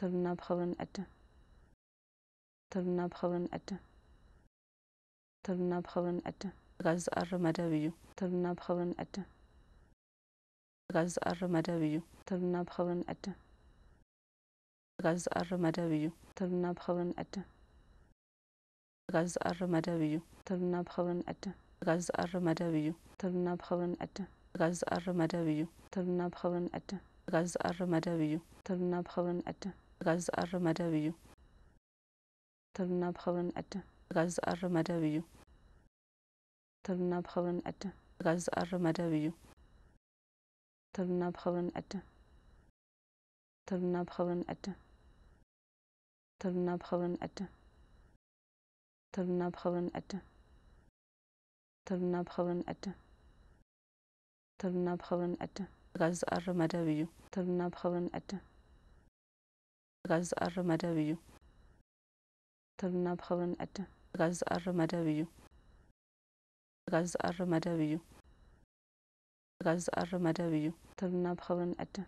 ተብና ብኸብርን ዕድን። ተብና ብኸብርን ዕድን። ተብና ብኸብርን ዕድን። ጋዝ ዝኣሪ መደብ እዩ። ተብና ብኸብርን ዕድን። ጋዝ ዝኣሪ መደብ እዩ። ተብና ብኸብርን ዕድን። ጋዝ ዝኣሪ መደብ እዩ። ተብና ብኸብርን ዕድን። ጋዝ ዝኣሪ መደብ እዩ። ተብና ብኸብርን ዕድን። ጋዝ ዝኣሪ መደብ እዩ። ተብና ብኸብርን ዕድን። ጋዝ ዝኣሪ መደብ እዩ። ተብና ብኸብርን ዕድን። ጋዝ ዝኣሪ መደብ እዩ። ተብና ብኸብርን ዕድን። ጋዝ ዝኣሪ መደብ እዩ። ተብና ብኸብርን ዕድን። ጋዝ ዝኣሪ መደብ እዩ። ተብና ብኸብርን ዕድን። ጋዝ ዝኣሪ መደብ እዩ። ተብና ብኸብርን ዕድን። ተብና ብኸብርን ዕድን። ተብና ብኸብርን ዕድን። ተብና ብኸብርን ዕድን። ተብና ብኸብርን ዕድን። ተብና ብኸብርን ዕድን። ጋዝ ዝኣሪ መደብ እዩ። ተብና ብኸብርን ዕድን። ጋዝ ዝኣሪ መደብ እዩ። ተብና ብኸብርን ዕድን። ጋዝ ዝኣሪ መደብ እዩ። ጋዝ ዝኣሪ መደብ እዩ። ጋዝ ዝኣሪ መደብ እዩ። ተብና ብኸብርን ዕድን።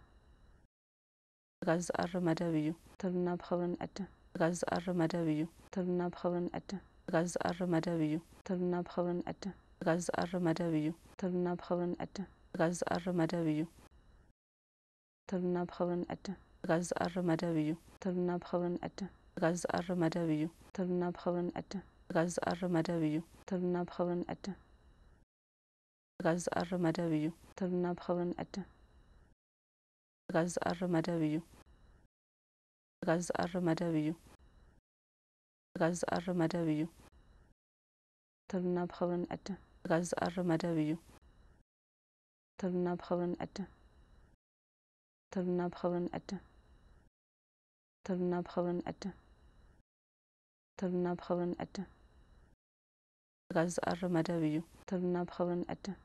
ጋዝ ዝኣሪ መደብ እዩ። ተብና ብኸብርን ዕድን። ጋዝ ዝኣሪ መደብ እዩ። ተብና ብኸብርን ዕድን። ጋዝ ዝኣሪ መደብ እዩ። ተብና ብኸብርን ዕድን። ጋዝ ዝኣሪ መደብ እዩ። ተብና ብኸብርን ዕድን። ጋዝ ዝኣሪ መደብ እዩ። ተብና ብኸብርን ዕድን። ጋዝ ዝኣሪ መደብ እዩ። ተብና ብኸብርን ዕድን። ጋዝ ዝኣሪ መደብ እዩ። ተብና ብኸብርን ዕድን። ጋዝ ዝኣሪ መደብ እዩ። ተብና ብኸብርን ዕድን። ጋዝ ዝኣሪ መደብ እዩ። ተብና ብኸብርን ዕድን። ጋዝ ዝኣሪ መደብ እዩ። ጋዝ ዝኣሪ መደብ እዩ። ጋዝ ዝኣሪ መደብ እዩ። ተብና ብኸብርን ዕድን። ጋዝ ዝኣሪ መደብ እዩ። ተብና ብኸብርን ዕድን። ተብና ብኸብርን ዕድን። ተብና ብኸብርን ዕድን። ተብና ብኸብርን ዕድን። ጋዝ ዝኣሪ መደብ እዩ። ተብና ብኸብርን ዕድን።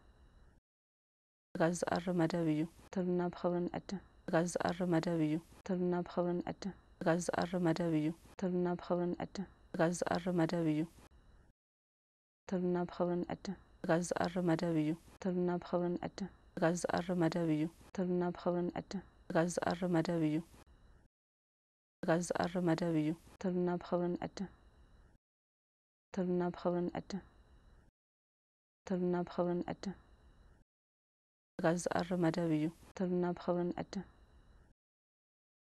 ጋዝ ዝኣሪ መደብ እዩ። ተብና ብኸብርን ዕድን። ጋዝ ዝኣሪ መደብ እዩ። ተብና ብኸብርን ዕድን። ጋዝ ዝኣሪ መደብ እዩ። ተብና ብኸብርን ዕድን። ጋዝ ዝኣሪ መደብ እዩ። ተብና ብኸብርን ዕድን። ጋዝ ዝኣሪ መደብ እዩ። ተብና ብኸብርን ዕድን። ጋዝ ዝኣሪ መደብ እዩ። ተብና ብኸብርን ዕድን። ጋዝ ዝኣሪ መደብ እዩ። ጋዝ ዝኣሪ መደብ እዩ። ተብና ብኸብርን ዕድን። ተብና ብኸብርን ዕድን። ተብና ብኸብርን ዕድን። ጋዝ ዝኣሪ መደብ እዩ። ተብና ብኸብርን ዕድን።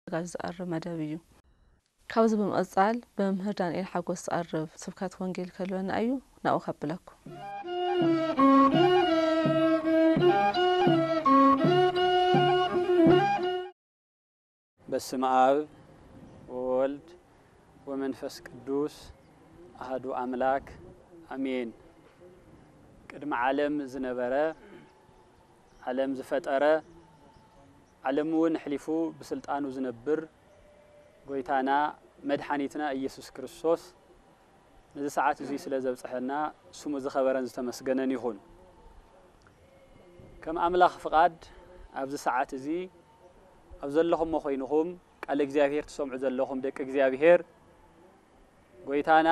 ጋዝ ዝኣሪ መደብ እዩ። ካብዚ ብምቕጻል ብመምህር ዳንኤል ሓጎስ ዝቐርብ ስብከት ወንጌል ከልወና እዩ። ናብኡ ከብለኩም። በስመ አብ ወወልድ ወመንፈስ ቅዱስ አሐዱ አምላክ አሜን። ቅድሚ ዓለም ዝነበረ፣ ዓለም ዝፈጠረ፣ ዓለም እውን ኣሕሊፉ ብስልጣኑ ዝነብር ጎይታና መድሓኒትና ኢየሱስ ክርስቶስ ነዚ ሰዓት እዚ ስለ ዘብጽሐና ስሙ ዝኸበረን ዝተመስገነን ይኹን። ከም ኣምላኽ ፍቓድ ኣብዚ ሰዓት እዚ ኣብ ዘለኹሞ ኮይንኹም ቃለ እግዚኣብሔር ትሰምዑ ዘለኹም ደቂ እግዚኣብሔር፣ ጎይታና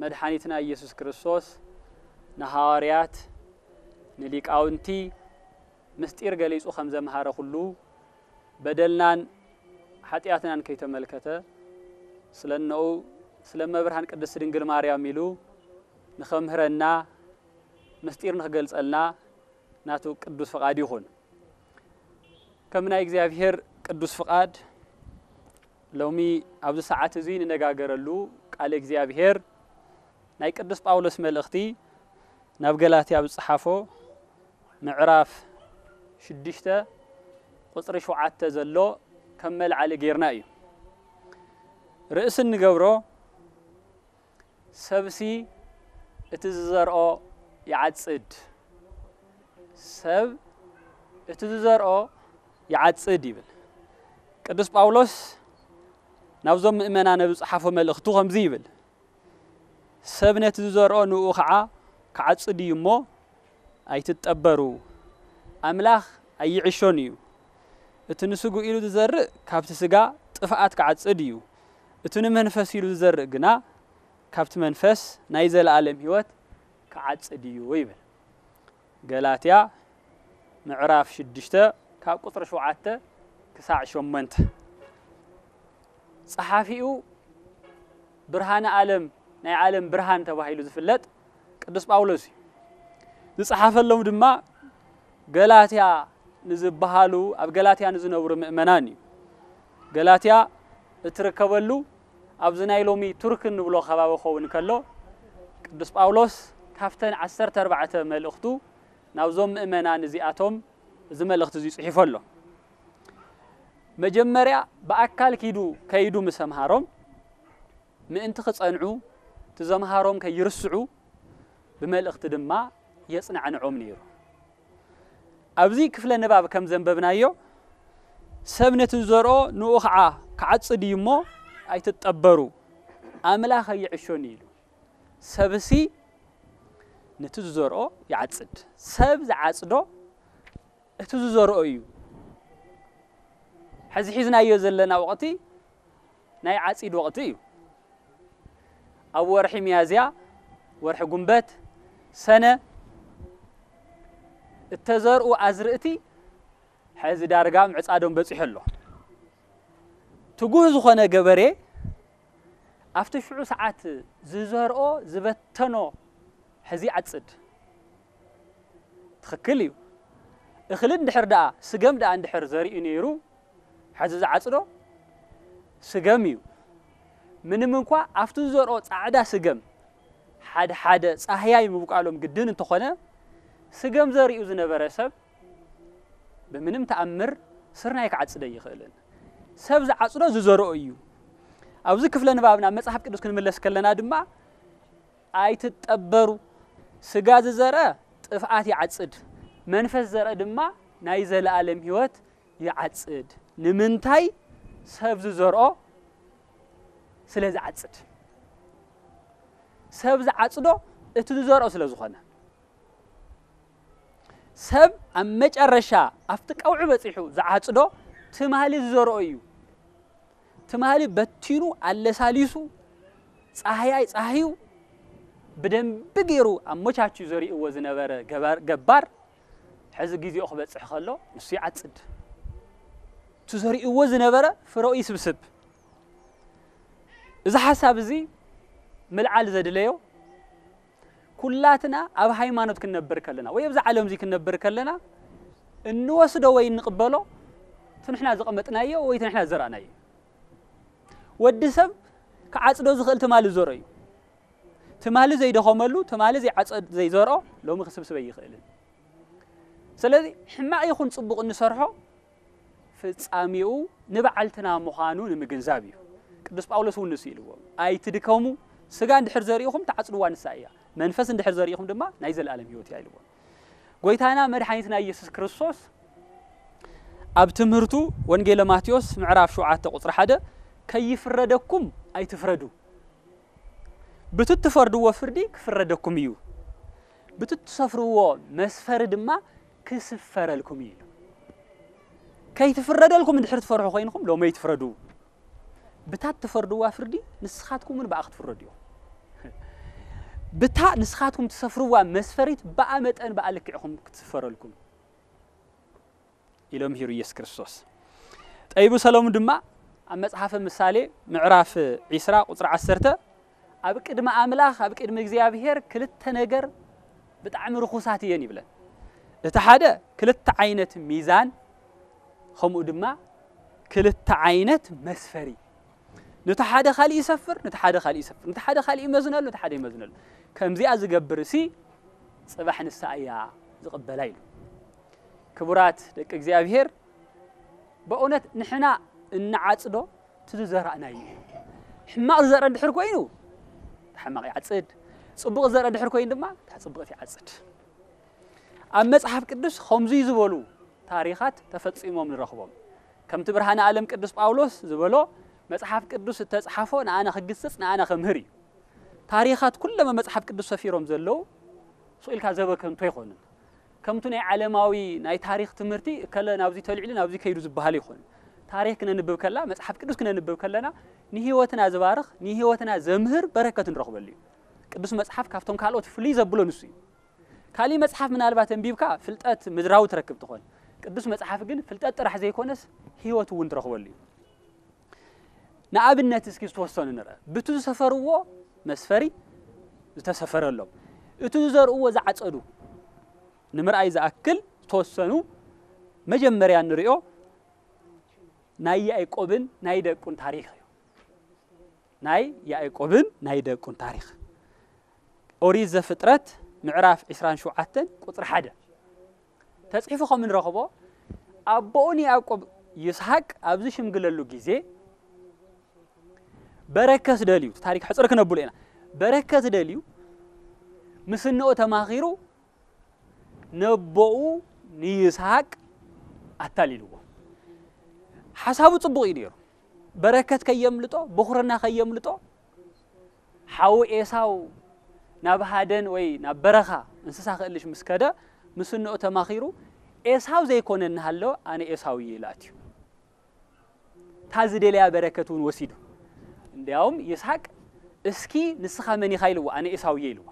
መድሓኒትና ኢየሱስ ክርስቶስ ንሃዋርያት ንሊቃውንቲ ምስጢር ገሊጹ ከም ዘምሃረ ኩሉ በደልናን ሓጢኣትናን ከይተመልከተ ስለ እነኡ ስለ እመብርሃን ቅድስት ድንግል ማርያም ኢሉ ንኸምህረና ምስጢር ንኽገልጸልና ናቱ ቅዱስ ፍቓድ ይኹን። ከም ናይ እግዚኣብሔር ቅዱስ ፍቓድ ሎሚ ኣብዚ ሰዓት እዚ ንነጋገረሉ ቃል እግዚኣብሔር ናይ ቅዱስ ጳውሎስ መልእኽቲ ናብ ገላትያ ዝጸሓፎ ምዕራፍ ሽዱሽተ ቁጽሪ ሸውዓተ ዘሎ ከም መልዓሊ ጌርና እዩ። ርእሲ እንገብሮ ሰብሲ እቲ ዝዘርኦ ይዓጽድ። ሰብ እቲ ዝዘርኦ ይዓጽድ ይብል። ቅዱስ ጳውሎስ ናብዞም ምእመናን ኣብ ዝጸሓፎ መልእኽቱ ከምዚ ይብል፣ ሰብ ነቲ ዝዘርኦ ንኡ ኸዓ ክዓጽድ እዩ እሞ ኣይትጠበሩ። ኣምላኽ ኣይዕሾን እዩ። እቲ ንስግኡ ኢሉ ዝዘርእ ካብቲ ስጋ ጥፍኣት ክዓጽድ እዩ። እቲ ንመንፈስ ኢሉ ዝዘርእ ግና ካብቲ መንፈስ ናይ ዘለኣለም ህይወት ክዓጽድ እዩ ይብል። ገላትያ ምዕራፍ ሽዱሽተ ካብ ቁጽሪ ሸውዓተ ክሳዕ ሸሞንተ። ጸሓፊኡ ብርሃነ ዓለም፣ ናይ ዓለም ብርሃን ተባሂሉ ዝፍለጥ ቅዱስ ጳውሎስ እዩ። ዝጸሓፈሎም ድማ ገላትያ ንዝበሃሉ፣ ኣብ ገላትያ ንዝነብሩ ምእመናን እዩ። ገላትያ እትርከበሉ ኣብዚ ናይ ሎሚ ቱርክ እንብሎ ከባቢ ክኸውን ከሎ፣ ቅዱስ ጳውሎስ ካብተን ዓሰርተ ኣርባዕተ መልእኽቱ ናብዞም ምእመናን እዚኣቶም እዚ መልእኽቲ እዚ ጽሒፉ ኣሎ። መጀመርያ ብኣካል ኪዱ፣ ከይዱ ምስ ኣምሃሮም፣ ምእንቲ ክጸንዑ፣ እቲ ዘምሃሮም ከይርስዑ፣ ብመልእኽቲ ድማ የጽናዕንዖም ነይሩ። ኣብዚ ክፍለ ንባብ ከም ዘንበብናዮ፣ ሰብ ነቲ ዝዘርኦ ንኡ ኸዓ ክዓጽድ እዩ እሞ፣ ኣይትጠበሩ፣ ኣምላኽ ኣይዕሾን እዩ ኢሉ። ሰብሲ ነቲ ዝዘርኦ ይዓጽድ። ሰብ ዝዓጽዶ እቲ ዝዘርኦ እዩ። ሕዚ ሒዝናዮ ዘለና ወቕቲ ናይ ዓጺድ ወቕቲ እዩ። ኣብ ወርሒ ሚያዝያ፣ ወርሒ ጉንበት፣ ሰነ እተዘርኡ ኣዝርእቲ ሕዚ ዳርጋ ምዕጻዶም በጺሑ ኣሎ። ትጉህ ዝኾነ ገበሬ ኣብቲ ሽዑ ሰዓት ዝዘርኦ፣ ዝበተኖ ሕዚ ይዓጽድ። ትኽክል እዩ። እኽሊ እንድሕር ደኣ፣ ስገም ደኣ እንድሕር ዘሪኡ ነይሩ፣ ሕዚ ዝዓጽዶ ስገም እዩ። ምንም እንኳ ኣብቲ ዝዘርኦ ጻዕዳ ስገም ሓደ ሓደ ጻህያይ ምብቋሎም ግድን እንተኾነ፣ ስገም ዘሪኡ ዝነበረ ሰብ ብምንም ተኣምር ስርናይ ክዓጽድ ኣይኽእልን። ሰብ ዝዓጽዶ ዝዘርኦ እዩ። ኣብዚ ክፍለ ንባብ ናብ መጽሓፍ ቅዱስ ክንምለስ ከለና ድማ፣ ኣይትጠበሩ፣ ስጋ ዝዘርአ ጥፍኣት ይዓጽድ፣ መንፈስ ዝዘርአ ድማ ናይ ዘለኣለም ህይወት ይዓጽድ። ንምንታይ? ሰብ ዝዘርኦ ስለ ዝዓጽድ። ሰብ ዝዓጽዶ እቲ ዝዘርኦ ስለ ዝኾነ። ሰብ ኣብ መጨረሻ ኣብቲ ቀውዒ በጺሑ ዝዓጽዶ ትማሊ ዝዘርኦ እዩ። ትማሊ በቲኑ ኣለሳሊሱ ጻህያይ ጻህዩ ብደንቢ ገይሩ ኣመቻችዩ ዘሪእዎ ዝነበረ ገባር፣ ገባር ሕዚ ግዜኡ ክበጽሕ ከሎ ንሱ ይዓጽድ። እቲ ዘሪእዎ ዝነበረ ፍረኡ ይስብስብ። እዚ ሓሳብ እዚ ምልዓል ዘድለዮ ኩላትና ኣብ ሃይማኖት ክንነብር ከለና ወይ ኣብዚ ዓለም እዚ ክንነብር ከለና እንወስዶ ወይ እንቕበሎ እቲ ንሕና ዘቐመጥናዮ ወይ እቲ ንሕና ዝዘራእናዮ። ወዲ ሰብ ክዓጽዶ ዝኽእል ትማሊ ዝዘርኦ እዩ። ትማሊ ዘይደኸመሉ፣ ትማሊ ዘይዓጸድ-፣ ዘይዘርኦ ሎሚ ክስብስብ ኣይኽእልን። ስለዚ ሕማቕ ይኹን ጽቡቕ እንሰርሖ ፍጻሜኡ ንበዓልትና ምዃኑ ንምግንዛብ እዩ። ቅዱስ ጳውሎስ እውን ንሱ ኢልዎም፣ "ኣይትድከሙ፣ ስጋ እንድሕር ዘሪእኹም ትዓጽድዋ ንሳ እያ፣ መንፈስ እንድሕር ዘሪእኹም ድማ ናይ ዘለኣለም ህይወት እያ" ኢልዎም። ጎይታና መድሓኒትና ኢየሱስ ክርስቶስ ኣብ ትምህርቱ ወንጌለ ማቴዎስ ምዕራፍ ሸውዓተ ቁጽሪ ሓደ፣ "ከይፍረደኩም ኣይትፍረዱ፣ ብቲ ትፈርድዎ ፍርዲ ክፍረደኩም እዩ፣ ብቲ ትሰፍርዎ መስፈሪ ድማ ክስፈረልኩም እዩ" ኢሉ። ከይትፍረደልኩም እንድሕር ትፈርሑ ኮይንኩም ሎሚ ኣይትፍረዱ። ብታ ትፈርድዋ ፍርዲ ንስኻትኩም እውን ብኣ ክትፍረዱ ኢኹም። ብታ ንስኻትኩም ትሰፍርዋ መስፈሪት ብኣ መጠን ብኣ ልክዕኹም ክትስፈረልኩም ኢሎ ምሂሩ ኢየሱስ ክርስቶስ። ጠቢቡ ሰሎሙን ድማ ኣብ መጽሓፈ ምሳሌ ምዕራፍ ዒስራ ቁጽሪ ዓሰርተ፣ "ኣብ ቅድሚ ኣምላኽ፣ ኣብ ቅድሚ እግዚኣብሔር ክልተ ነገር ብጣዕሚ ርኹሳት እየን" ይብለን። እቲ ሓደ ክልተ ዓይነት ሚዛን፣ ከምኡ ድማ ክልተ ዓይነት መስፈሪ። ነቲ ሓደ ካልእ ይሰፍር፣ ነቲ ሓደ ካልእ ይሰፍር፣ ነቲ ሓደ ካልእ ይመዝነሉ፣ ነቲ ሓደ ይመዝነሉ። ከምዚኣ ዝገብር እሲ ጽባሕ ንሳ እያ ዝቕበላ ኢሉ። ክቡራት ደቂ እግዚኣብሔር፣ በእውነት ንሕና እንዓጽዶ እቲ ዝዘራእናዮ እዩ። ሕማቕ ዝዘርአ እንድሕር ኮይኑ፣ እቲ ሕማቕ ይዓጽድ። ጽቡቕ ዝዘርአ እንድሕር ኮይኑ ድማ፣ እታ ጽብቕቲ ይዓጽድ። ኣብ መጽሓፍ ቅዱስ ከምዙይ ዝበሉ ታሪኻት ተፈጺሞም ንረኽቦም። ከምቲ ብርሃነ ዓለም ቅዱስ ጳውሎስ ዝበሎ፣ መጽሓፍ ቅዱስ እተጽሓፎ ንኣና ክግስጽ፣ ንኣና ከምህር እዩ። ታሪኻት ኩሎም ኣብ መጽሓፍ ቅዱስ ሰፊሮም ዘለዉ፣ ስቕ ኢልካ ዘበከንቱ ኣይኮኑን። ከምቲ ናይ ዓለማዊ ናይ ታሪኽ ትምህርቲ፣ እከለ ናብዚ ተልዒሉ ናብዚ ከይዱ ዝበሃል ኣይኮኑን። ታሪኽ ክነንብብ ከላ፣ መጽሓፍ ቅዱስ ክነንብብ ከለና፣ ንህይወትና ዝባርኽ፣ ንህይወትና ዘምህር በረከት ንረኽበሉ እዩ። ቅዱስ መጽሓፍ ካብቶም ካልኦት ፍልይ ዘብሎ ንሱ እዩ። ካሊእ መጽሓፍ ምናልባት ኣንቢብካ ፍልጠት ምድራዊ ትረክብ ትኾን። ቅዱስ መጽሓፍ ግን ፍልጠት ጥራሕ ዘይኮነስ ህይወት እውን ትረኽበሉ እዩ። ንኣብነት እስኪ ዝተወሰኑ ንርአ። ብቱ ዝሰፈርዎ መስፈሪ ዝተሰፈረሎም፣ እቱ ዝዘርእዎ ዝዓጸዱ ንምርኣይ ዝኣክል ዝተወሰኑ መጀመርያ ንሪኦ ናይ ያዕቆብን ናይ ደቁን ታሪኽ እዩ። ናይ ያዕቆብን ናይ ደቁን ታሪኽ። ኦሪት ዘፍጥረት ምዕራፍ ዕስራን ሸውዓተን ቁጽሪ ሓደ ተጽሒፉ ከም እንረኽቦ፣ ኣቦኡ ንያዕቆብ ይስሐቅ ኣብዚ ሽምግለሉ ግዜ በረከት ደልዩ፣ ታሪኽ ሕጽር ክነብሎ ኢና። በረከት ደልዩ ምስ እንኦ ተማኺሩ ነቦኡ ንይስሐቅ ኣታሊልዎ። ሓሳቡ ጽቡቕ እዩ ነይሩ። በረከት ከየምልጦ፣ ብኹርና ከየምልጦ፣ ሓው ኤሳው ናብ ሃደን ወይ ናብ በረኻ እንስሳ ክእልሽ ምስ ከደ፣ ምስ እንኦ ተማኺሩ፣ ኤሳው ዘይኮነ እናሃለወ ኣነ ኤሳው እየ ኢሉ ኣትዩ። እታ ዝደለያ በረከት እውን ወሲዱ። እንዲያውም ይስሐቅ እስኪ ንስኻ መን ኢኻ ኢልዎ፣ ኣነ ኤሳው እየ ኢልዎ።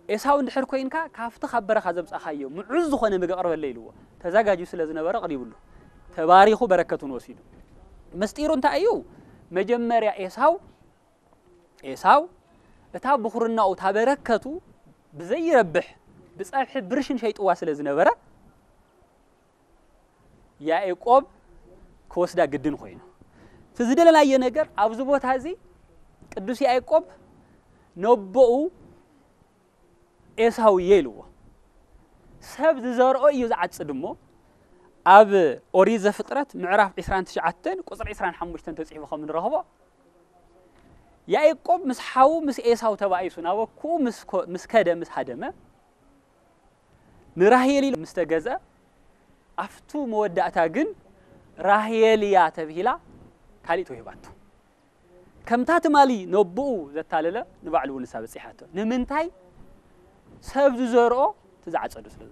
ኤሳው እንድሕር ኮይንካ ካብቲ ካብ በረኻ ዘምጻኻዮ ምዑዝ ዝኾነ ምግቢ ኣቕርበለይ ኢልዎ። ተዛጋጅዩ ስለ ዝነበረ ኣቕሪብሉ። ተባሪኹ በረከት እውን ወሲዱ። ምስጢሩ እንታይ እዩ? መጀመርያ ኤሳው ኤሳው እታ ብኹርናኡ እታ በረከቱ ብዘይረብሕ ብጸብሒ ብርሽን ሸይጥዋ ስለ ዝነበረ ያዕቆብ ክወስዳ ግድን ኮይኑ። እቲ ዝደለናዮ ነገር ኣብዚ ቦታ እዚ ቅዱስ ያዕቆብ ነቦኡ ኤሳው እየ ኢልዎ። ሰብ ዝዘርኦ እዩ ዝዓጽድ እሞ ኣብ ኦሪት ዘፍጥረት ምዕራፍ ዕስራን ትሽዓተን ቁጽሪ ዕስራን ሓሙሽተን ተጽሒፉ ከም ንረኽቦ ያዕቆብ ምስ ሓዉ ምስ ኤሳው ተባኢሱ ናብ ኣኩኡ ምስ ኮ-፣ ምስ ከደ ምስ ሃደመ ንራሄል ኢሉ ምስ ተገዝአ ኣብቱ መወዳእታ ግን ራሄል እያ ተብሂላ ካሊእ ተዋሂባቶ። ከምታ ትማሊ ነቦኡ ዘታለለ ንባዕሉ እውን ንሳ በጺሓቶ። ንምንታይ? ሰብ ዝዘርኦ እቲ ዝዓጸዶ ስለ፣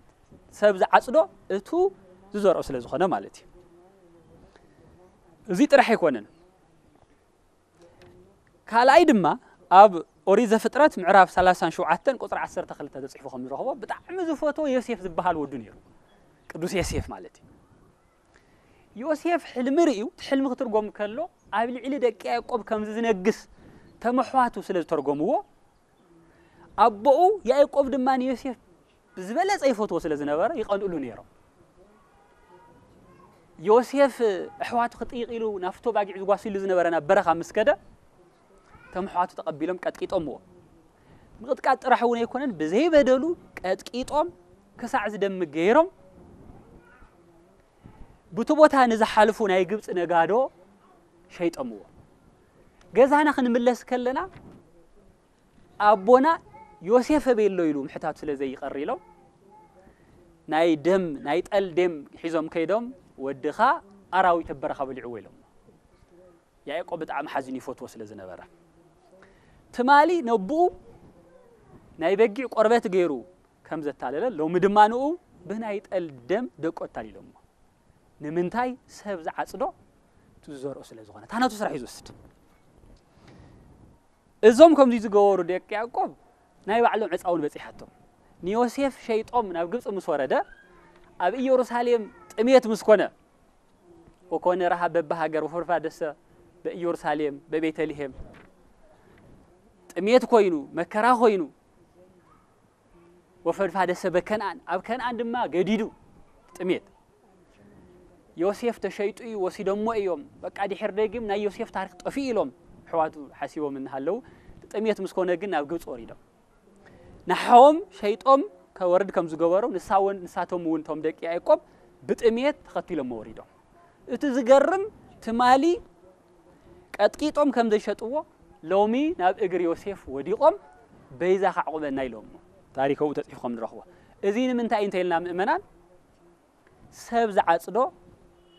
ሰብ ዝዓጽዶ እቱ ዝዘርኦ ስለ ዝኾነ ማለት እዩ። እዚ ጥራሕ ኣይኮነን። ካልኣይ ድማ ኣብ ኦሪት ዘፍጥረት ምዕራፍ ሰላሳን ሸውዓተን ቁጽሪ ዓሰርተ ክልተ ተጽሒፉ ከም ንረኽቦ ብጣዕሚ ዝፈትዎ ዮሴፍ ዝበሃል ወዱ ነይሩ። ቅዱስ ዮሴፍ ማለት እዩ። ዮሴፍ ሕልሚ ርእዩ፣ እቲ ሕልሚ ክትርጎም ከሎ ኣብ ልዕሊ ደቂ ያዕቆብ ከምዚ ዝነግስ ተመሕዋቱ ስለ ዝተርጎምዎ፣ ኣቦኡ ያዕቆብ ድማ ንዮሴፍ ብዝበለጸ ይፈትዎ ስለ ዝነበረ ይቐንእሉ ነይሮም። ዮሴፍ ኣሕዋቱ ክጥይቕ ኢሉ ናብቶ ባጊዕ ዝጓስሉ ዝነበረ ናብ በረኻ ምስ ከደ፣ እቶም ኣሕዋቱ ተቐቢሎም ቀጥቂጦምዎ። ምቕጥቃጥ ጥራሕ እውን ኣይኮነን፣ ብዘይበደሉ ቀጥቂጦም ክሳዕ ዝደሚ ገይሮም፣ ብቲ ቦታ ንዝሓልፉ ናይ ግብጺ ነጋዶ ሸይጦምዎ። ገዛና ክንምለስ ከለና ኣቦና ዮሴፍ ኣበይ ኣሎ ኢሉ ምሕታቱ ስለ ዘይቀር ኢሎም፣ ናይ ደም፣ ናይ ጠል ደም ሒዞም ከይዶም፣ "ወድኻ ኣራዊት ኣብ በረኻ በሊዕዎ" ኢሎም። ያዕቆብ ብጣዕሚ ሓዚኑ ይፈትዎ ስለ ዝነበረ፣ ትማሊ ነብኡ ናይ በጊዕ ቆርበት ገይሩ ከም ዘታለለ፣ ሎሚ ድማ ንኡ ብናይ ጠል ደም ደቁ ኣታሊሎሞ። ንምንታይ? ሰብ ዝዓጽዶ እቲ ዝዘርኦ ስለ ዝኾነ፣ እታ ናቱ ስራሕ እዩ ዝወስድ። እዞም ከምዚ ዝገበሩ ደቂ ያዕቆብ ናይ ባዕሎም ዕጻ እውን በጺሓቶም። ንዮሴፍ ሸይጦም ናብ ግብጺ ምስ ወረደ፣ ኣብ ኢየሩሳሌም ጥሜት ምስ ኮነ፣ ወኮነ ረሃብ በብሃገር ወፈድፋደሰ በኢየሩሳሌም በቤተልሔም፣ ጥሜት ኮይኑ፣ መከራ ኮይኑ፣ ወፈድፋደሰ በከንኣን፣ ኣብ ከንኣን ድማ ገዲዱ ጥሜት። ዮሴፍ ተሸይጡ እዩ፣ ወሲዶሞ እዮም። በቃ ድሕር ደጊም ናይ ዮሴፍ ታሪኽ ጠፊኡ ኢሎም ኣሕዋቱ ሓሲቦም እናሃለዉ፣ ጥሜት ምስ ኮነ ግን ናብ ግብጺ ወሪዶም። ንሓዎም ሸይጦም ከወርድ ከም ዝገበሩ፣ ንሳ እውን፣ ንሳቶም እውን እቶም ደቂ ያዕቆብ ብጥሜት ተኸቲሎሞ ወሪዶም። እቲ ዝገርም፣ ትማሊ ቀጥቂጦም ከም ዘይሸጥዎ፣ ሎሚ ናብ እግሪ ዮሴፍ ወዲቖም በይዛኻ ዕቑበና ኢሎሞ። ታሪክ ኣብኡ ተጽሒፉ ከም ንረኽቦ። እዚ ንምንታይ እንተ ኢልና ምእመናን፣ ሰብ ዝዓጽዶ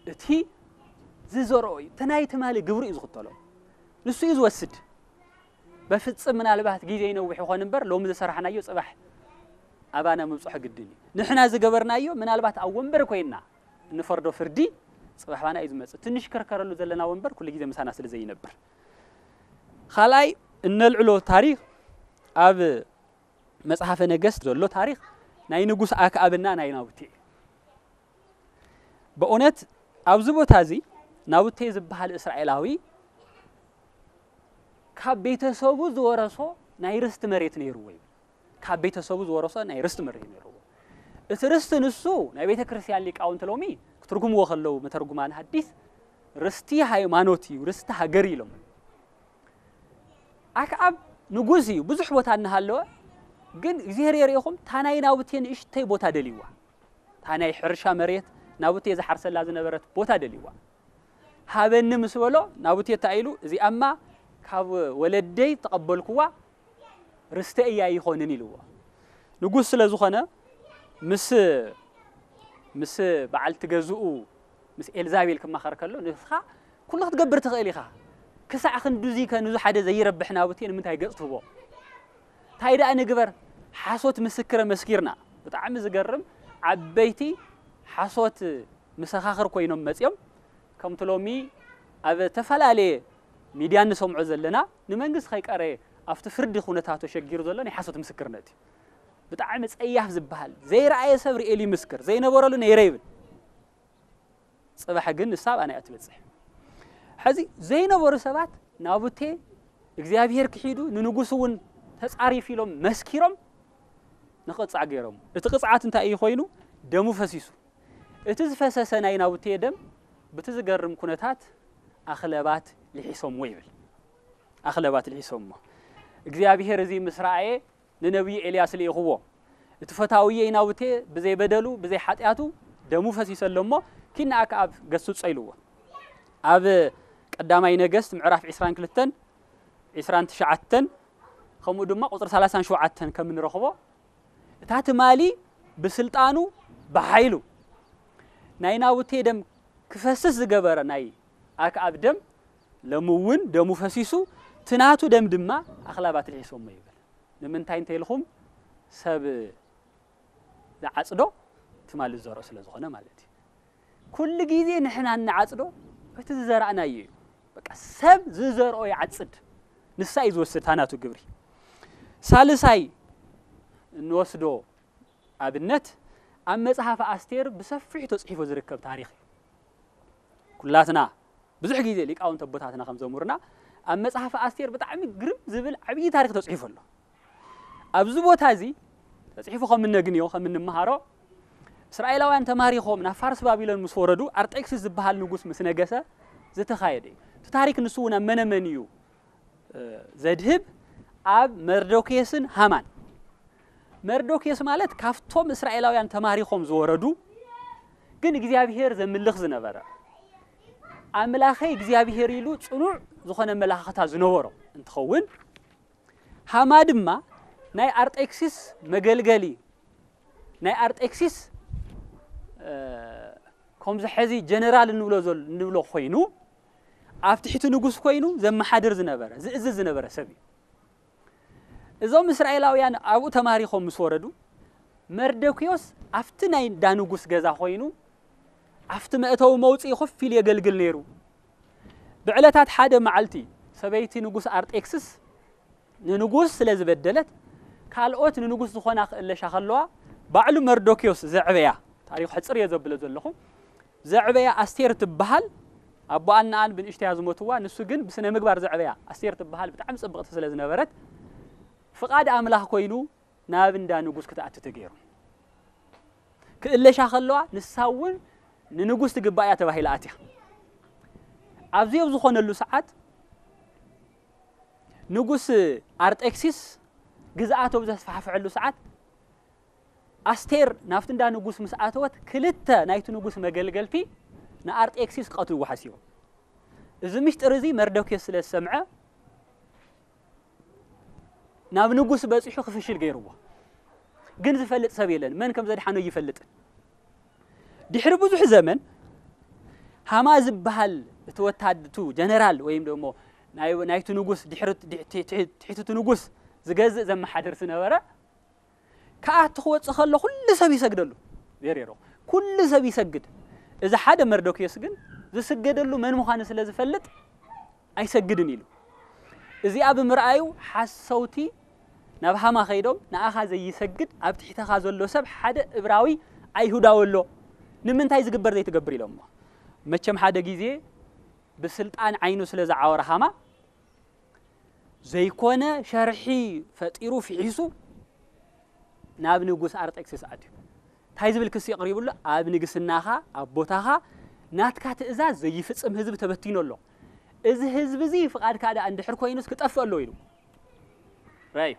እቲ ዝዘርኦ እዩ። እቲ ናይ ትማሊ ግብሩ እዩ ዝኽተሎ። ንሱ እዩ ዝወስድ። በፍጽም ምናልባት ግዜ ይነውሕ ይኾን እምበር፣ ሎሚ ዝሰራሕናዮ ጽባሕ ኣባና ምብጽሖ ግድን እዩ። ንሕና ዝገበርናዮ ምናልባት ኣብ ወንበር ኮይንና እንፈርዶ ፍርዲ ጽባሕ ባና እዩ ዝመጽእ። እቲ ንሽከርከረሉ ዘለና ወንበር ኩሉ ግዜ ምሳና ስለ ዘይነብር። ካልኣይ እነልዕሎ ታሪኽ ኣብ መጽሓፈ ነገስት ዘሎ ታሪኽ ናይ ንጉስ ኣክኣብና ናይ ናቡቴ እዩ። በእውነት ኣብዚ ቦታ እዚ ናቡቴ ዝበሃል እስራኤላዊ ካብ ቤተሰቡ ዝወረሶ ናይ ርስቲ መሬት ነይርዎ ይብል። ካብ ቤተሰቡ ዝወረሶ ናይ ርስቲ መሬት ነይርዎ። እቲ ርስቲ ንሱ ናይ ቤተ ክርስቲያን ሊቃውንቲ ሎሚ ክትርጉምዎ ከለዉ መተርጉማን ሐዲስ ርስቲ ሃይማኖት እዩ፣ ርስቲ ሃገር ኢሎም። ኣክዓብ ንጉስ እዩ፣ ብዙሕ ቦታ እናሃለወ ግን እግዚኣብሔር የሪእኹም፣ ታናይ ናቡቴ ንእሽተይ ቦታ ደልይዋ፣ ታናይ ሕርሻ መሬት ናቡቴ ዝሓርሰላ ዝነበረት ቦታ ደልይዋ። ሃበኒ ምስ በሎ ናቡቴ እንታይ ኢሉ፣ እዚኣማ ካብ ወለደይ ተቐበልኩዋ፣ ርስተ እያ ይኾንን ኢልዎ። ንጉስ ስለ ዝኾነ ምስ ምስ በዓልቲ ገዝኡ ምስ ኤልዛቤል ክማኸር ከሎ፣ ንስኻ ኩሉ ክትገብር ትኽእል ኢኻ፣ ክሳዕ ክንድዚ ከ ንዙ ሓደ ዘይረብሕ ናቡቴ ንምንታይ ገጽ ትህቦ? እንታይ ደኣ ንግበር? ሓሶት ምስክር መስኪርና። ብጣዕሚ ዝገርም፣ ዓበይቲ ሓሶት መሰኻኽር ኮይኖም መጽዮም። ከምቲ ሎሚ ኣብ ዝተፈላለየ ሚድያ ንሰምዖ ዘለና፣ ንመንግስቲ ከይቀረየ ኣብቲ ፍርዲ ኩነታቱ ሸጊሩ ዘሎ ናይ ሓሶት ምስክርነት እዩ። ብጣዕሚ ጸያፍ ዝበሃል፣ ዘይረኣየ ሰብ ርእየ ይምስክር፣ ዘይነበረሉ ነይረ ይብል። ጽባሕ ግን ንሳ ኣባና እያ ትበጽሕ። ሕዚ ዘይነበሩ ሰባት ናቡቴ እግዚኣብሔር ክሒዱ ንንጉስ እውን ተጻሪፍ ኢሎም መስኪሮም ንቕጻዕ ገይሮም። እቲ ቅጽዓት እንታይ እዩ ኮይኑ? ደሙ ፈሲሱ። እቲ ዝፈሰሰ ናይ ናቡቴ ደም ብቲ ዝገርም ኩነታት ኣኽለባት ልሒሶምዎ ይብል። ኣኽለባት ልሒሶምዎ። እግዚኣብሔር እዚ ምስ ረኣየ ንነቢዩ ኤልያስ ልኢኽዎ። እቲ ፈታውየይ ናቡቴ ብዘይ በደሉ ብዘይ ሓጢኣቱ ደሙ ፈሲሰ ኣሎ እሞ ኪድ ንኣክዓብ ገስጾ ኢልዎ። ኣብ ቀዳማይ ነገስት ምዕራፍ ዕስራን ክልተን ዕስራን ትሽዓተን ከምኡ ድማ ቁጽሪ ሰላሳን ሸውዓተን ከም እንረኽቦ እታ ትማሊ ብስልጣኑ ብሓይሉ ናይ ናቡቴ ደም ክፈስስ ዝገበረ ናይ ኣክዓብ ደም ሎሚ እውን ደሙ ፈሲሱ እቲ ናቱ ደም ድማ ኣኽላባት ልሒሶሞ ይብል። ንምንታይ እንተ ኢልኹም ሰብ ዝዓጽዶ ትማሊ ዝዘርኦ ስለ ዝኾነ ማለት እዩ። ኩሉ ግዜ ንሕና እንዓጽዶ እቲ ዝዘራእናዮ እዩ። በቃ ሰብ ዝዘርኦ ይዓጽድ። ንሳ እዩ ዝወስድ ታናቱ ግብሪ። ሳልሳይ እንወስዶ ኣብነት ኣብ መጽሓፍ ኣስቴር ብሰፊሑ ተጽሒፉ ዝርከብ ታሪኽ እዩ። ኩላትና ብዙሕ ግዜ ሊቃውንት ኣቦታትና ከም ዘምሩና ኣብ መጽሓፍ ኣስቴር ብጣዕሚ ግርም ዝብል ዓብዪ ታሪኽ ተጽሒፉ ኣሎ። ኣብዚ ቦታ እዚ ተጽሒፉ ከም እነግንዮ ከም እንመሃሮ እስራኤላውያን ተማሪኾም ናብ ፋርስ ባቢሎን ምስ ወረዱ ኣርጤክስስ ዝበሃል ንጉስ ምስ ነገሰ ዝተኻየደ እዩ። እቲ ታሪክ ንሱ እውን ኣብ መነመን እዩ ዘድህብ ኣብ መርዶክዮስን ሃማን። መርዶክዮስ ማለት ካብቶም እስራኤላውያን ተማሪኾም ዝወረዱ ግን እግዚኣብሔር ዘምልኽ ዝነበረ ኣምላኸይ እግዚኣብሔር ኢሉ ጽኑዕ ዝኾነ መላኽታ ዝነበሮ እንትኸውን ሃማ ድማ ናይ ኣርጤክሲስ መገልገሊ ናይ ኣርጤክሲስ ከምዚ ሕዚ ጀነራል እንብሎ እንብሎ ኮይኑ ኣብ ትሕቲ ንጉስ ኮይኑ ዘመሓድር ዝነበረ ዝእዝዝ ዝነበረ ሰብ እዩ። እዞም እስራኤላውያን ኣብኡ ተማሪኾም ምስ ወረዱ መርደክዮስ ኣብቲ ናይ ዳ ንጉስ ገዛ ኮይኑ ኣብቲ መእተዊ መውፅኢ ኮፍ ኢሉ የገልግል ነይሩ። ብዕለታት ሓደ መዓልቲ ሰበይቲ ንጉስ ኣርጤክስስ ንንጉስ ስለ ዝበደለት ካልኦት ንንጉስ ዝኾና ክእለሻ ከለዋ ባዕሉ መርዶክዮስ ዘዕበያ ታሪኹ ሕፅር እየ ዘብሎ ዘለኹ ዘዕበያ ኣስቴር ትበሃል ኣቦኣን ነኣን ብንእሽተያ ዝሞትዋ ንሱ ግን ብስነ ምግባር ዘዕበያ ኣስቴር ትበሃል ብጣዕሚ ፅብቕቲ ስለ ዝነበረት ፍቓድ ኣምላኽ ኮይኑ ናብ እንዳ ንጉስ ክትኣቱ ተገይሩ ክእለሻ ከለዋ ንሳ እውን ንንጉስ ትግባእ እያ ተባሂላ ኣትያ ኣብዚ ኣብ ዝኾነሉ ሰዓት ንጉስ ኣርጤክሲስ ግዝኣቱ ኣብ ዘስፋሕፍሐሉ ሰዓት ኣስቴር ናብቲ እንዳ ንጉስ ምስ ኣተወት ክልተ ናይቲ ንጉስ መገልገልቲ ንኣርጤክሲስ ክቐትልዎ ሓሲቦም። እዚ ምሽጥር እዚ መርዶክዮስ ስለ ዝሰምዐ ናብ ንጉስ በጺሑ ክፍሽል ገይርዎ። ግን ዝፈልጥ ሰብ የለን፣ መን ከም ዘድሓኖ ይፈልጥን። ድሕሪ ብዙሕ ዘመን ሃማ ዝበሃል እቲ ወታድ እቲ ጀነራል ወይም ደሞ ናይ ናይቲ ንጉስ ድሕሪ ትሕቲ እቲ ንጉስ ዝገዝእ ዘመሓድር ዝነበረ ክኣቱ ክወጽእ ከሎ ኩሉ ሰብ ይሰግደሉ። ዜሬሮ ኩሉ ሰብ ይሰግድ። እዚ ሓደ መርዶክዮስ ግን ዝስገደሉ መን ምዃኑ ስለ ዝፈልጥ ኣይሰግድን ኢሉ። እዚኣ ብምርኣዩ ሓሰውቲ ናብ ሃማ ከይዶም ንኣኻ ዘይሰግድ ኣብ ትሕተኻ ዘሎ ሰብ ሓደ እብራዊ ኣይሁዳዊ ኣሎ ንምንታይ ዝግበር ዘይትገብር ኢሎሞ። መቸም ሓደ ግዜ ብስልጣን ዓይኑ ስለ ዝዓወረ ሃማ ዘይኮነ ሸርሒ ፈጢሩ ፊሒሱ ናብ ንጉስ ኣርጤክስስ ኣትዩ። እንታይ ዝብል ክሲ የቕሪብሉ? ኣብ ንግስናኻ፣ ኣብ ቦታኻ ናትካ ትእዛዝ ዘይፍጽም ህዝቢ ተበቲኑ ኣሎ። እዚ ህዝቢ እዚ ፍቓድካ ደኣ እንድሕር ኮይኑስ ክጠፍእ ኣሎ ኢሉ። ራይ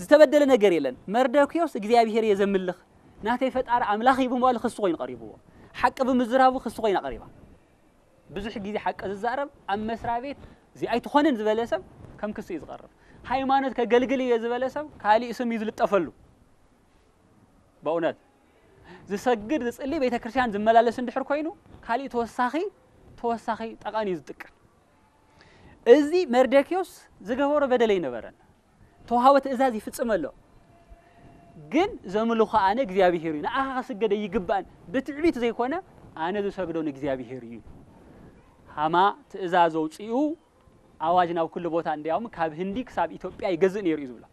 ዝተበደለ ነገር የለን። መርደክዮስ እግዚኣብሔር እየ ዘምልኽ፣ ናተይ ፈጣሪ ኣምላኽ እዩ ብምባሉ ክሲ ኮይኑ ቀሪብዎ። ሓቂ ብምዝራቡ ክሲ ኮይና ቀሪባ። ብዙሕ ግዜ ሓቂ ዝዛረብ ኣብ መስሪያ ቤት እዚ ኣይትኾንን ዝበለ ሰብ ከም ክሲ እዩ ዝቐርብ። ሃይማኖት ከገልግል እየ ዝበለ ሰብ ካሊእ ስም እዩ ዝልጠፈሉ። በእውነት ዝሰግድ ዝጽሊ ቤተ ክርስቲያን ዝመላለስ እንድሕር ኮይኑ ካሊእ ተወሳኺ ተወሳኺ ጠቐን እዩ ዝጥቀም። እዚ መርደክዮስ ዝገበሮ በደል ኣይነበረን። ተዋህቦ ትእዛዝ ይፍጽም ኣሎ። ግን ዘምልኾ ኣነ እግዚኣብሔር እዩ፣ ንኣኻ ክስገደ ይግባእን ብትዕቢት ዘይኮነ ኣነ ዝሰግዶ ንእግዚኣብሔር እዩ። ሃማ ትእዛዝ ኣውፂኡ ኣዋጅ ናብ ኩሉ ቦታ እንዲያውም ካብ ህንዲ ክሳብ ኢትዮጵያ ይገዝእ ነይሩ እዩ ዝብሎ።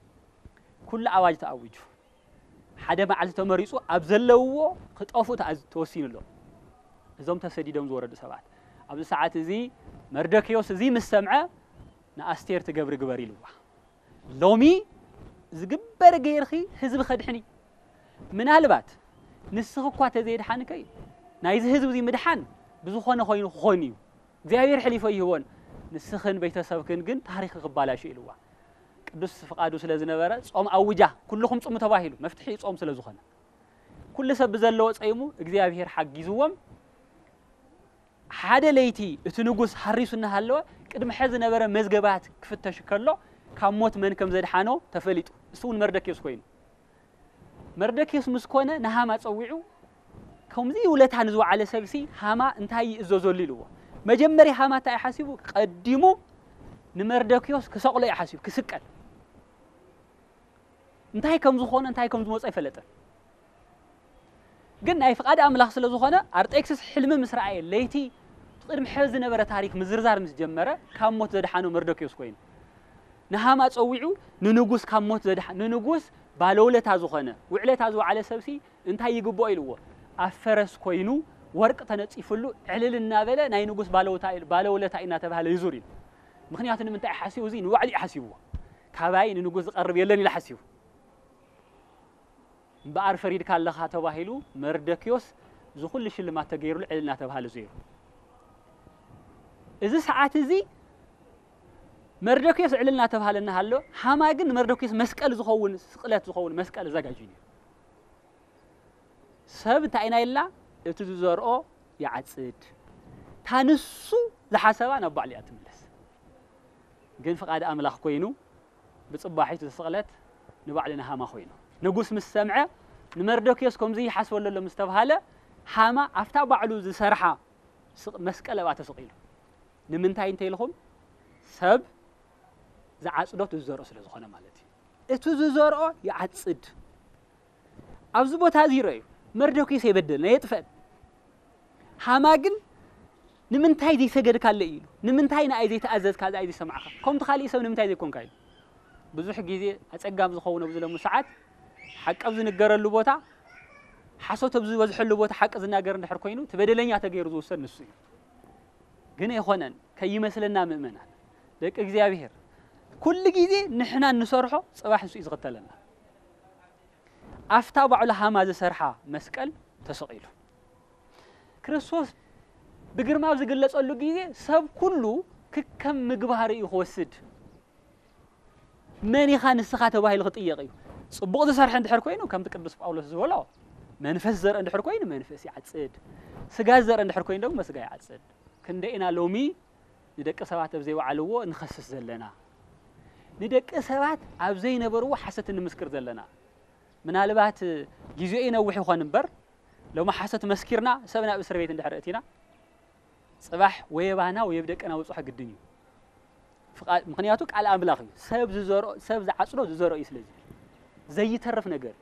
ኩሉ ኣዋጅ ተኣዊጁ። ሓደ መዓልቲ ተመሪፁ ኣብ ዘለውዎ ክጠፉ ተኣዝ- ተወሲኑ ኣሎ። እዞም ተሰዲዶም ዝወረዱ ሰባት ኣብዚ ሰዓት እዚ መርደክዮስ እዚ ምስ ሰምዐ ንኣስቴር ትገብሪ ግበር ኢልዋ። ሎሚ ዝግበር ገይርኺ ህዝቢ ከድሕኒ ምናልባት ንስኺ እኳ ተዘይድሓንከይ ናይዚ ህዝቢ እዚ ምድሓን ብዝኾነ ኮይኑ ክኾን እዩ እግዚኣብሔር ሕሊፎ ይህቦን ንስኽን ቤተሰብክን ግን ታሪኽ ክባላሹ ኢልዋ። ቅዱስ ፍቃዱ ስለ ዝነበረ ጾም ኣውጃ ኩልኹም ጽሙ ተባሂሉ መፍትሒ ጾም ስለ ዝኾነ ኩሉ ሰብ ብዘለዎ ጸይሙ እግዚኣብሔር ሓጊዝዎም። ሓደ ለይቲ እቲ ንጉስ ሃሪሱ እናሃለወ ቅድሚ ሕዚ ዝነበረ መዝገባት ክፍተሽ ከሎ ካብ ሞት መን ከም ዘድሓኖ ተፈሊጡ። እሱ እውን መርደኪዮስ ኮይኑ መርደኪዮስ ምስ ኮነ ንሃማ ጸዊዑ ከምዚ ውለታ ንዝወዓለ ሰብሲ ሃማ እንታይ ይእዘዘሉ ኢልዎ። መጀመርያ ሃማ እንታይ ሓሲቡ ቀዲሙ ንመርደኪዮስ ክሰቕሎ እዩ ሓሲቡ ክስቀል እንታይ ከም ዝኾነ እንታይ ከም ዝመጾ ኣይፈለጠን። ግን ናይ ፍቓድ ኣምላኽ ስለ ዝኾነ ኣርጤክስስ ሕልሚ ምስ ረኣየ ለይቲ እቲ ቅድሚ ሕዚ ዝነበረ ታሪክ ምዝርዛር ምስ ጀመረ ካብ ሞት ዘድሓኖ መርዶክዮስ ኮይኑ ንሃማ ጸዊዑ ንንጉስ ካብ ሞት ዘድሓ ንንጉስ ባለውለታ ዝኾነ ውዕለታ ዝወዓለ ሰብሲ እንታይ ይግብኦ ኢልዎ ኣብ ፈረስ ኮይኑ ወርቂ ተነጺፍሉ ዕልል እናበለ ናይ ንጉስ ባለውታ ባለውለታ እናተባህለ ይዙር ኢሉ። ምክንያቱ ንምንታይ ሓሲቡ እዚ ንባዕሉ ሓሲብዎ ካባይ ንንጉስ ዝቐርብ የለን ኢሉ ሓሲቡ እምበኣር ፈሪድካ ኣለኻ ተባሂሉ መርደክዮስ እዚ ኩሉ ሽልማት ተገይሩሉ ዕልል እናተባህለ ዘይሩ። እዚ ሰዓት እዚ መርደክዮስ ዕልል እናተባህለ እናሃሎ ሃማ ግን ንመርደክዮስ መስቀል ዝኸውን ስቕለት ዝኸውን መስቀል ኣዘጋጅዩ ነይሩ። ሰብ እንታይ ኢና ኢልና እቲ ዝዘርኦ ይዓጽድ። ታንሱ ዝሓሰባ ናብ ባዕሉ እያ ትምለስ። ግን ፍቓድ ኣምላኽ ኮይኑ ብጽባሒቱ ስቕለት ንባዕሉ ንሃማ ኮይኑ ንጉስ ምስ ሰምዐ ንመርዶክዮስ ከምዚ ይሓስበሉ ኣሎ ምስ ተባሃለ ሃማ ኣብታ ባዕሉ ዝሰርሓ መስቀል ኣብኣ ተሰቒሉ ንምንታይ እንተ ኢልኹም ሰብ ዝዓጽዶ እቲ ዝዘርኦ ስለ ዝኾነ ማለት እዩ እቲ ዝዘርኦ ይዓጽድ ኣብዚ ቦታ እዚ ይረኣዩ መርዶክዮስ የበደልና የጥፈን ሃማ ግን ንምንታይ ዘይሰገድካለይ ኢሉ ንምንታይ ንኣይ ዘይተኣዘዝካ ዝኣይ ዘይሰማዕካ ከምቲ ካሊእ ሰብ ንምንታይ ዘይኮንካ ኢሉ ብዙሕ ግዜ ኣጸጋም ዝኸውን ኣብዚ ሎሚ ሰዓት ሓቂ ኣብ ዝንገረሉ ቦታ ሓሶት ኣብ ዝበዝሐሉ ቦታ ሓቂ ዝናገር እንድሕር ኮይኑ እቲ በደለኛ ተገይሩ ዝውሰድ ንሱ እዩ ግን ኣይኾነን ከይመስለና ምእመናን ደቂ እግዚኣብሔር ኩሉ ግዜ ንሕና እንሰርሖ ጽባሕ ንሱ እዩ ዝኽተለና ኣብታ ባዕሉ ሃማ ዝሰርሓ መስቀል ተሰቒሉ ክርስቶስ ብግርማ ኣብ ዝግለጸሉ ግዜ ሰብ ኩሉ ክከም ምግባር እዩ ክወስድ መን ኢኻ ንስኻ ተባሂሉ ክጥየቕ እዩ ጽቡቕ ዝሰርሐ እንድሕር ኮይኑ ከምቲ ቅዱስ ጳውሎስ ዝበሎ መንፈስ ዘርእ እንድሕር ኮይኑ መንፈስ ይዓጽድ ስጋ ዘርእ እንድሕር ኮይኑ ደግሞ ስጋ ይዓጽድ ክንደ ኢና ሎሚ ንደቂ ሰባት ኣብ ዘይወዓልዎ ንኸስስ ዘለና ንደቂ ሰባት ኣብ ዘይነበርዎ ሓሰት ንምስክር ዘለና ምናልባት ግዜኡ ይነውሕ ይኾን እምበር ሎሚ ሓሰት መስኪርና ሰብ ናብ እስር ቤት እንድሕር እቲና ጽባሕ ወይ ኣባና ወይ ኣብ ደቅና ውጹሕ ግድን እዩ ምክንያቱ ቃል ኣምላኽ እዩ ሰብ ዝዘርኦ ሰብ ዝዓጽዶ ዝዘርኦ እዩ ስለዚ ዘይተርፍ ነገር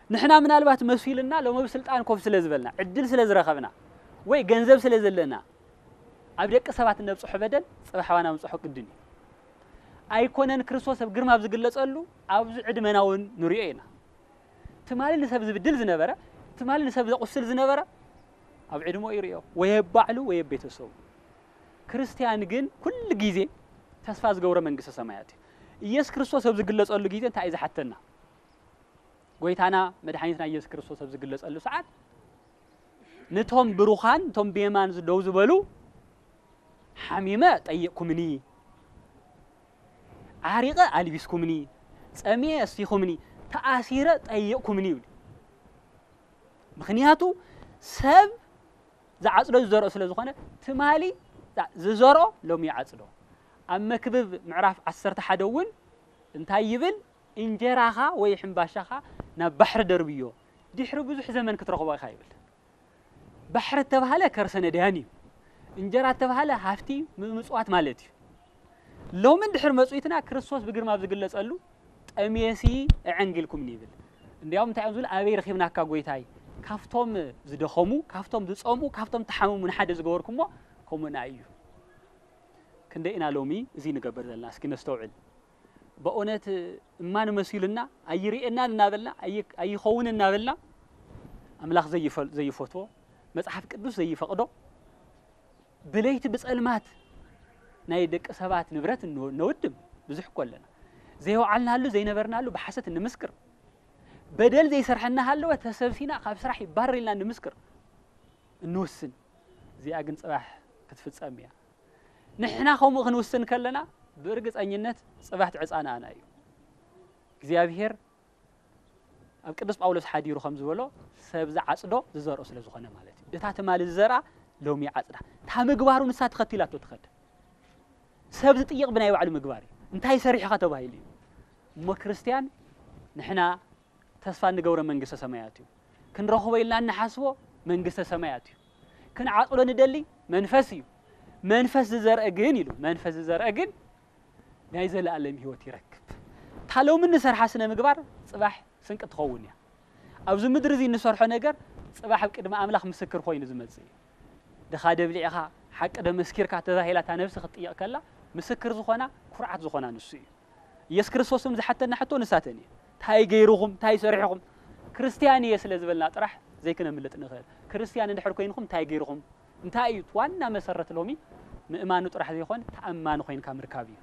ንሕና ምናልባት መሲልና ሎም ኣብ ስልጣን ኮፍ ስለ ዝበልና ዕድል ስለ ዝረኸብና ወይ ገንዘብ ስለ ዘለና ኣብ ደቂ ሰባት እነብፅሖ በደል ፅባሕ ኣባና ምፅሖ ግድን እዩ ኣይኮነን ክርስቶስ ኣብ ግርማ ኣብ ዝግለፀሉ ኣብዚ ዕድመና እውን ንሪኦ ኢና ትማሊ ንሰብ ዝብድል ዝነበረ ትማሊ ንሰብ ዘቑስል ዝነበረ ኣብ ዕድሞ ይሪኦ ወይ ኣብ ባዕሉ ወይ ኣብ ቤተሰቡ ክርስትያን ግን ኩሉ ግዜ ተስፋ ዝገብሮ መንግስተ ሰማያት እዩ። ኢየሱስ ክርስቶስ ኣብ ዝግለጸሉ ግዜ እንታይ እዩ ዝሓተና? ጎይታና መድሓኒትና ኢየሱስ ክርስቶስ ኣብ ዝግለጸሉ ሰዓት ነቶም ብሩኻን ነቶም ብየማን ደው ዝበሉ ሓሚመ ጠይቕኩምኒ፣ ዓሪቐ ኣልቢስኩምኒ፣ ጸሚኤ ኣስቲኹምኒ፣ ተኣሲረ ጠይቕኩምኒ ይብል። ምኽንያቱ ሰብ ዝዓጽዶ ዝዘርኦ ስለ ዝኾነ ትማሊ ዝዘርኦ ሎሚ ይዓጽዶ። ኣብ መክብብ ምዕራፍ ዓሰርተ ሓደ እውን እንታይ ይብል? እንጀራኻ ወይ ሕምባሻኻ ናብ ባሕሪ ደርብዮ፣ ድሕሪ ብዙሕ ዘመን ክትረኽቦ ኢኻ ይብል። ባሕሪ እተባህለ ከርሰ ነዳያን እዩ። እንጀራ እተባህለ ሃፍቲ ምጽዋት ማለት እዩ። ሎሚ እንድሕር መጽኢትና ክርስቶስ ብግርማ ኣብ ዝግለጸሉ ጠሜሲ እዕንጊልኩም ይብል። እንዲያውም እንታይ እዮም ዝብል? ኣበይ ረኺብናካ ጎይታይ? ካብቶም ዝደኸሙ፣ ካብቶም ዝጸምኡ፣ ካብቶም ተሓመሙ ንሓደ ዝገበርኩሞ ከምኡና እዩ። ክንደይ ኢና ሎሚ እዚ ንገብር ዘለና? እስኪ ነስተውዕል። በእውነት እማን መሲሉና ኣይርእየናን እናበልና ኣይ- ኣይኸውን እናበልና ኣምላኽ ዘይፈል- ዘይፈትዎ መጽሓፍ ቅዱስ ዘይፈቕዶ ብለይቲ ብጸልማት ናይ ደቂ ሰባት ንብረት እን- ነውድም ብዙሕ እኮ ኣለና። ዘይወዓልናሉ ዘይነበርናሉ ብሓሰት እንምስክር፣ በደል ዘይሰርሐና ሃለወ ተሰብሲና ካብ ስራሕ ይባረር ኢልና እንምስክር እንውስን። እዚኣ ግን ጽባሕ ክትፍጸም እያ። ንሕና ከምኡ ክንውስን ከለና ብእርግጸኝነት ጽባሕ ትዕጻና ኣና እዩ። እግዚኣብሔር ኣብ ቅዱስ ጳውሎስ ሓዲሩ ከም ዝበሎ ሰብ ዝዓጽዶ ዝዘርኦ ስለ ዝኾነ ማለት እዩ። እታ ትማሊ ዝዘርኣ ሎሚ ይዓጽዳ። እታ ምግባሩ ንሳ ተኸቲላቶ ትኸድ። ሰብ ዝጥይቕ ብናይ ባዕሉ ምግባር እዩ። እንታይ ሰሪሕኻ ተባሂሉ እዩ። እሞ ክርስትያን ንሕና ተስፋ እንገብሮ መንግስተ ሰማያት እዩ። ክንረኽቦ ኢልና እንሓስቦ መንግስተ ሰማያት እዩ። ክንዓጽዶ ንደሊ መንፈስ እዩ። መንፈስ ዝዘርአ ግን ኢሉ መንፈስ ዝዘርአ ግን ናይ ዘለኣለም ህይወት ይረክብ። እታ ሎሚ እንሰርሓ ስነ ምግባር ጽባሕ ስንቂ ትኸውን እያ። ኣብዚ ምድሪ እዚ እንሰርሖ ነገር ጽባሕ ኣብ ቅድሚ ኣምላኽ ምስክር ኮይኑ ዝመጽእ እዩ። ድኻ ደብሊዕኻ ሓቂ ደመስኪርካ ተባሂላ እታ ነብሲ ክትጥየቕ ከላ ምስክር ዝኾና ኩርዓት ዝኾና ንሱ እዩ። ኢየሱስ ክርስቶስም ዝሓተና ሕቶ ንሳተን እዩ። እንታይ ገይርኹም እንታይ ሰሪሕኹም? ክርስትያን እየ ስለ ዝበልና ጥራሕ ዘይክነምልጥ ንኽእል። ክርስትያን እንድሕር ኮይንኹም እንታይ ገይርኹም? እንታይ እዩ ዋና መሰረት ሎሚ ምእማኑ ጥራሕ ዘይኮን ተኣማኒ ኮይንካ ምርካብ እዩ።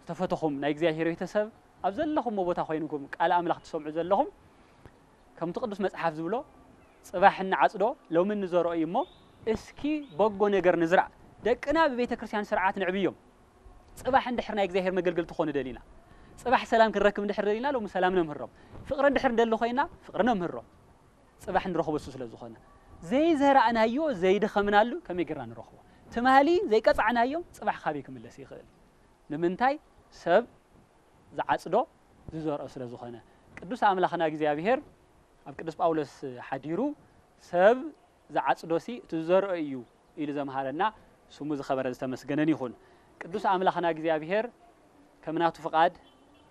ዝተፈተኹም ናይ እግዚኣብሔር ቤተሰብ ኣብ ዘለኹምዎ ቦታ ኮይንኩም ቃል ኣምላኽ ትሰምዑ ዘለኹም ከምቲ ቅዱስ መጽሓፍ ዝብሎ ጽባሕ እንዓጽዶ ሎሚ እንዘርኦ እዩ እሞ እስኪ በጎ ነገር ንዝራእ። ደቅና ብቤተ ክርስቲያን ስርዓት ንዕብዮም። ጽባሕ እንድሕር ናይ እግዚኣብሔር መገልገልቲ ክኾኑ ደሊና፣ ጽባሕ ሰላም ክንረክብ እንድሕር ደሊና ሎሚ ሰላም ነምህሮም፣ ፍቕሪ እንድሕር እንደሊ ኮይና ፍቕሪ ነምህሮም። ጽባሕ ንረኽቦ እሱ ስለ ዝኾነ ዘይዘራእናዮ ዘይደኸምናሉ ከመይ ጌርና ንረኽቦ? ትማሊ ዘይቀጻዕናዮም ጽባሕ ካበይ ክምለስ ይኽእል? ንምንታይ? ሰብ ዝዓጽዶ ዝዘርኦ ስለ ዝኾነ። ቅዱስ ኣምላኽና እግዚኣብሔር ኣብ ቅዱስ ጳውሎስ ሓዲሩ ሰብ ዝዓጽዶሲ እቲ ዝዘርኦ እዩ ኢሉ ዘምሃረና ስሙ ዝኸበረ ዝተመስገነን ይኹን። ቅዱስ ኣምላኽና እግዚኣብሔር ከም ናቱ ፍቓድ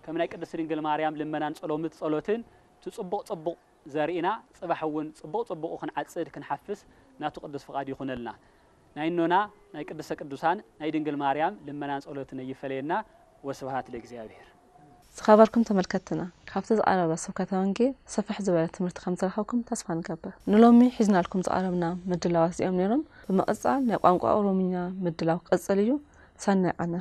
ከም ናይ ቅድስት ድንግል ማርያም ልመናን ጸሎምት ጸሎትን እቲ ጽቡቕ ጽቡቕ ዘርኢና ጽባሕ እውን ጽቡቕ ጽቡቑ ክንዓጽድ ክንሓፍስ ናቱ ቅዱስ ፍቓድ ይኹነልና። ናይ እኖና ናይ ቅድስተ ቅዱሳን ናይ ድንግል ማርያም ልመናን ጸሎትን ኣይፈለየና። ወስብሃት ለእግዚኣብሔር። ዝኸበርኩም ተመልከትና ካብቲ ዝቐረበ ስብከተ ወንጌል ስፍሕ ዝበለ ትምህርቲ ከም ዝረኸብኩም ተስፋ ንገብር። ንሎሚ ሒዝናልኩም ዝቐረብና ምድላዋት እዚኦም ነይሮም። ብምቕጻል ናይ ቋንቋ ኦሮምኛ ምድላው ክቕጽል እዩ። ሰናይ ቃና።